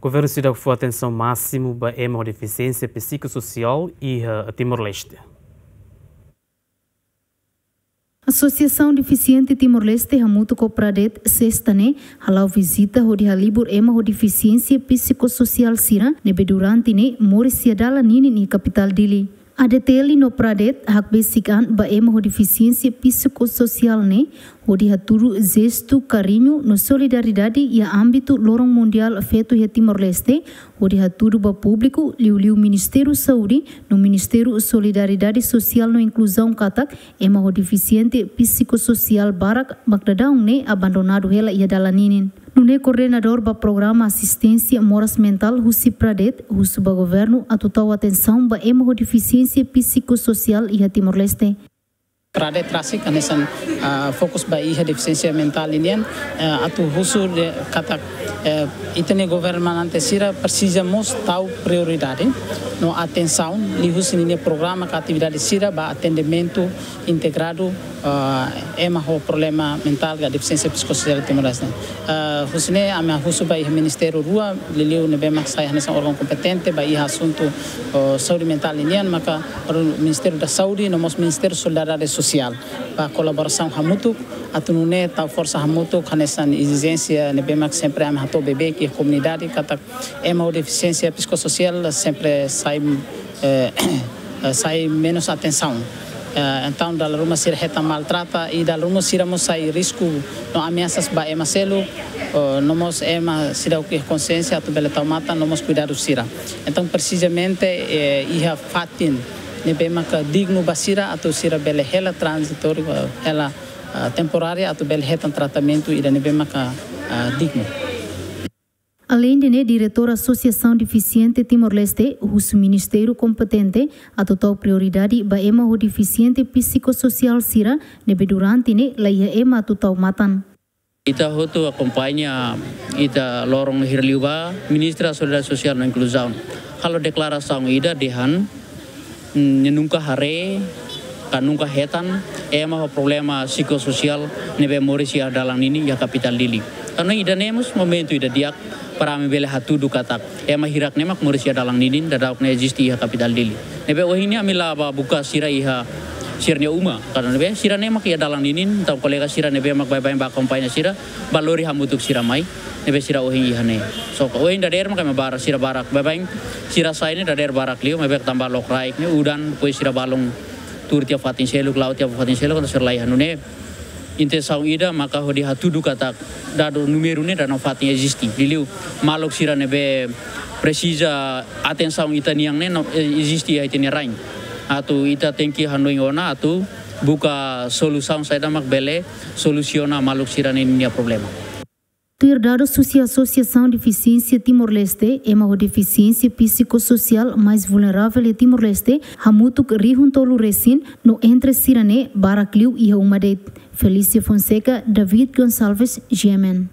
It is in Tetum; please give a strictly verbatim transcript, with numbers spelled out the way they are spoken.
Governu seidauk fó atensaun másimu ba ema ho defisiénsia psikososiál iha Timor-Leste. Asosiasaun Defisiente Timor-Leste hamutuk ho Pradet, sesta ne'e, hala'o vizita hodi halibur ema ho defisiénsia psikososiál sira ne'ebé durante ne'e moris iha dalan ninin iha kapitál Dili. A D T L no Pradet hakbesik an ba ema ho defisiénsia psikososiál ne'e, hodi hatudu jestu kariñu no solidariedade iha ámbitu Loron Mundiál Feto iha Timor-Leste, hodi hatudu ba públiku, liuliu Ministériu Saúde no Ministériu Solidariedade Sosiál no Inkluzaun katak, ema ho defisiénsia psikososiál barak mak daudaun ne'e abandonadu hela iha dalan ninin. Nune'e koordenadór ba programa asisténsia moras mentál husi Pradet husu ba governu atu tau atensaun ba ema ho defisiénsia psikososiál iha Timor-Leste. Pradet rasik hanesan, ah, fokus ba iha defisiénsia mentál ninian, eh, atu husu de'it katak, eh, ita-nia governante sira presiza mós tau prioridade no atensaun liuhusi ninia programa ka atividade sira ba atendimentu integradu, ah, ema ho problema mentál ka defisiénsia psikososiál Timor-Leste. Ah, husi ne'e ami husu ba iha ministériu rua, liuliu ne'ebé mak sai hanesan órgaun kompetente ba iha asuntu, oh, saúde mentál ninian, maka Ministériu da Saúde no mós Ministériu Solidariedade Sosiál ba kolaborasaun hamutuk, atu nune'e tau forsa hamutuk hanesan ezijénsia ne'ebé mak sempre ami hato'o beibeik iha komunidade katak ema ho defisiénsia psikososiál sempre sai, eh, eh, sai menus atensaun. Eh, entaun dala ruma sira hetan maltrata i dala ruma sira mós sai risku no ameasas ba ema seluk, eh, no mós ema seidauk iha konsiénsia atu bele tau matan no mós kuidadu sira. Entaun, presizamente, eh, iha fatin ne'ebé maka dignu ba sira atu sira bele hela tranzitóriu, eh, hela, ah, temporária atu bele hetan tratamentu ida ne'ebé maka, ah, dignu. Aleinde ne'e, Diretór Asosiasaun Defisiente Timor-Leste husu ministériu kompetente atu tau prioridade ba ema ho defisiénsia psikososiál sira ne'ebé durante ne'e laiha ema atu tau matan. Ita hotu akompaña ita loron hira liubá, Ministra Solidariedade Sosiál no Inkluzaun halo deklarasaun ida dehan, mm, nia nunka haree ka nunka hetan ema ho problema psikososiál ne'ebé moris iha dalan ninin iha kapitál Dili. Tanba ida-ne'e mós momentu ida di'ak para ami bele hatudu katak ema hirak ne'e mak moris iha dalan ninin, daudaun ne'e eziste iha kapitál Dili. Ne'ebé ohin ne'e ami la'o bá buka sira iha sira-nia uma, karena ne'ebé sira ne'e mak iha dalan ninin, entaun kolega sira ne'ebé mak baibain bá akompaña sira, bá lori hamutuk sira mai, ne'ebé sira ohin iha ne'e. So, ohin dadeer mak ema barak, sira barak, baibain sira sai ne'e dadeer barak liu, maibé tanba lokraik ne'e, udan, depois sira balun tuur tiha fatin seluk, la'o tiha fatin seluk, entaun sira laiha. Nune'e intensaun ida maka hodi hatudu katak dadu númeru ne'e daudaun fatin eziste. Liuliu maluk sira ne'ebé presiza atensaun ita-nian ne'e no, eh, eziste iha ita-nia rain. Atu ita tenke hanoin ona atu buka solusaun saida mak bele solusiona maluk sira-nia problema. Tuir dadus husi Asosiasaun Defisiénsia Timor-Leste, ema ho defisiénsia psikososiál mais vulneravel iha Timor-Leste hamutuk rihun tolu resin no entre sira ne'e barak liu iha uma de'it. Felícia Fonseca, David Gonçalves, G M N.